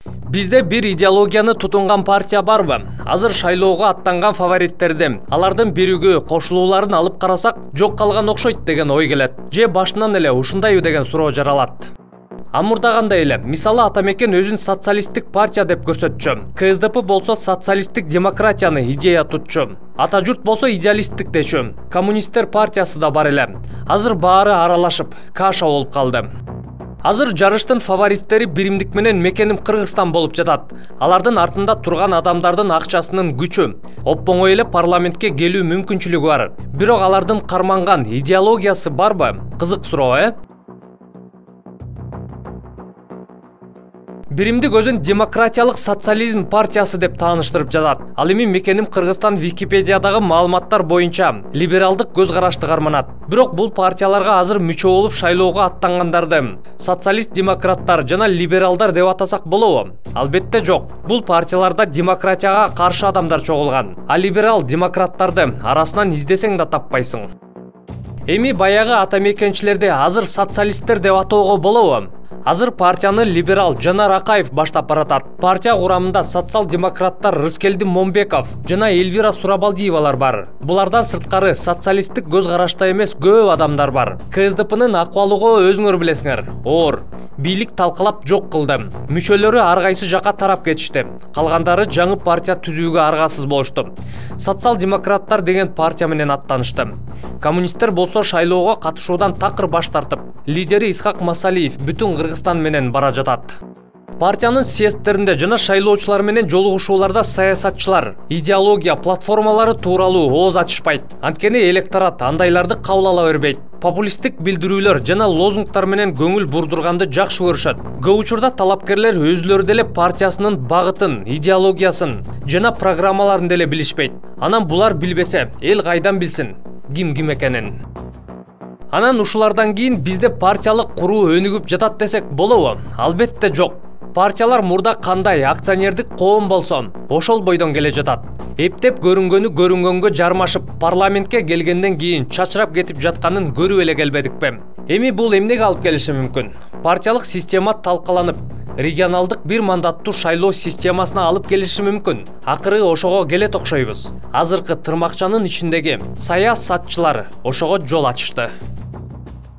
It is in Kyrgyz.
Бизде бир идеологияны тутунган партия барбы? Азыр шайлоого аттанган фавориттерди, алардын биригөө кошулууларын алып карасак, жок калган окшойт деген ой келет. Же башынан эле ушундайбы деген суроо жаралат. Амурдагандай эле, мисалы Атамекен өзүн социалисттик партия деп көрсөтчү. КСДП болсо социалисттик демократияны идея тутчу. Ата журт болсо идеалисттик дечү. Коммунисттер партиясы да бар эле. Азыр баары аралашып, каша болуп калды. Азыр жарыштын фавориттери биримдик менен мекеним Кыргызстан болуп жатат. Алардын артында турган адамдардын акчасынын күчү, оңой эле парламентке келүү мүмкүнчүлүгү бар. Бирок алардын карманган идеологиясы барбы? Кызык суроо, Биримдик өзүн демократиялык социализм партиясы деп тааныштырып жатат. Ал эми мекеним Кыргызстан Википедиядагы маалыматтар боюнча либералдык көз карашты карманат. Бирок бул партияларга азыр мүчө болуп шайлоого аттангандарды социалист-демократтар жана либералдар деп атасак болобу? Албетте жок. Бул партияларда демократияга каршы адамдар чогулган. А либерал-демократтарды арасынан издесең да таппайсың. Эми баягы атамекенчилерди азыр социалисттер деп атоого болобу? Азыр партияны либерал Жанар Акаев баштап баратат. Партия курамында социал-демократтар Рыскелди Момбеков жана Эльвира Сурабалдиевалар бар. Булардан сырткары социалисттик көз карашта эмес көп адамдар бар. КСДПнын акыбалыгы өзүңөр билесиңер. Оор. Бийлик талкалап жок кылды. Мүчөлөрү ар кайсы жака тарап кетишти. Калгандары жаңы партия түзүүгө аргасыз болушту. Социал-демократтар деген партия менен аттанышты. Коммунисттер болсо шайлоого катышуудан такыр баш тартып, лидери Исхак Масалиев бүтүн Кыргызстан менен бара жатат. Партиянын съезддеринде жана шайлоочулар менен жолугушууларда саясатчылар идеология платформалары тууралуу ооз ачышпайт. Анткени электорат андайларды кабыл ала бербейт. Популисттик билдирүүлөр жана лозунгтар менен көңүл бурдурганды жакшы көрүшөт. Көп учурда талапкерлер өзүлөрү деле партиясынын багытын, идеологиясын жана программаларын деле билишпейт. Анан булар билбесе, эл кайдан билсин ким экенин. Анан ушулардан кийин бизде партиялык куруу өнүгүп жатат десек болобу? Албетте жок. Партиялар мурда кандай акционердик коом болсо, ошол бойдон келе жатат. Эптеп көрүнгөнү көрүнгөнгө жармашып, парламентке келгенден кийин чачырап кетип жатканын көрүп эле келбедикпи? Эми бул эмнеге алып келиши мүмкүн? Партиялык система талкаланып, регионалдык бир мандаттуу шайлоо системасына алып келиши мүмкүн. Акыры ошого келет окшойбуз. Азыркы тырмакчанын ичиндеги саясатчылар ошого жол ачышты.